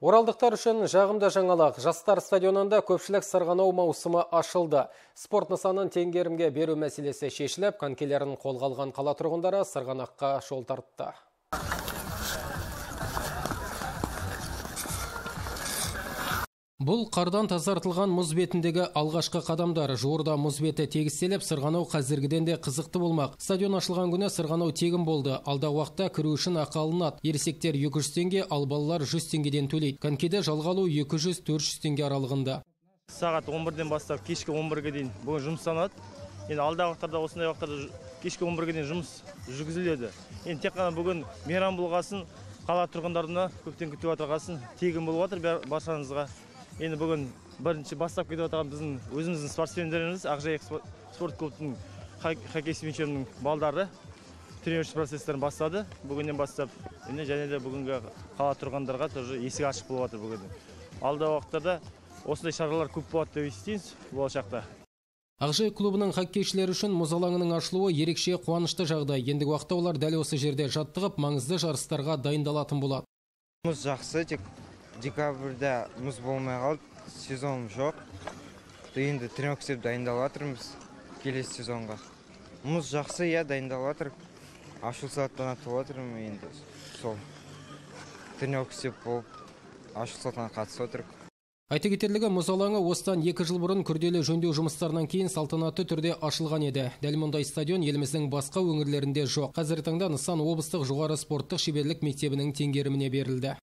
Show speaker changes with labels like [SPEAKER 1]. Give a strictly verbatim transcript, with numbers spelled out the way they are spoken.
[SPEAKER 1] Оралдықтар үшін жағымды жаңалық. Жастар стадионында көпшілік сырғанау маусымы ашылды. Спорт нысанын теңгерімге беру мәселесі шешіліп, конькилерін қолға алған қала тұрғындары сырғанаққа жол тартты. Бұл қардан тазартылған мұз бетіндегі алғашқы қадамдар. Жуырда мұз беті тегістеліп, сырғанау қазіргіден де қызықты болмақ. Стадион ашылған күні сырғанау тегін болды. Алдағы уақытта кіру үшін ақы алынады. Ересектер екі жүз теңге, ал балалар жүз теңгеден төлейді. Конькиді жалға алу екі жүз төрт жүз теңге аралығында.
[SPEAKER 2] Сағат он бірден бастап кешкі он бірге дейін бүгін жұмыстанады. Енді алдағы уақыттарда осындай уақыттарда кешкі он бірге дейін жұмыс жүргізіледі. Енді тек қана бүгін мейрам болғасын, қала тұрғындарына көптен күтіп отырғасын тегін болып отыр баршаңызға. Енді бүгін бірінші бастап кетіп отырған біздің өзіміздің спортсмендеріміз Ақжайық спорт клубының хоккей чемпионының балдары тренировщик процестерін бастады. Бүгіннен бастап және де бүгінгі қала тұрғындарға тоже есік ашық болып отыр бүгін. Алдағы уақыттарда осындай шаралар көп болады деп естиміз болашақта.
[SPEAKER 1] Ақжайық клубының хоккейшілері үшін мұз алаңының ашылуы ерекше қуанышты жағдай. Ендігі уақытта олар дәл осы жерде жаттығып, маңызды жарыстарға дайындалатын болады.
[SPEAKER 3] Мұз жақсы, тек декабрьда мұз болмай қалды, сезон жоқ. Енді тренировка істеп дайындалып жатырмыз келесі сезонға. Мұз жақсы, иә, дайындалып жатыр. Ашылу салтанаты атып отырмын, енді сол тренировка істеп болып, ашылу салтанатына қатысып отырмын.
[SPEAKER 1] Айта кетерлігі, мұз алаңы осыдан екі жыл бұрын күрделі жөндеу жұмыстарынан кейін салтанатты түрде ашылған еді. Дәл мұндай стадион еліміздің басқа өңірлерінде жоқ. Қазіргі таңда нысан облыстық жоғары спорттық шеберлік мектебінің теңгеріміне берілді.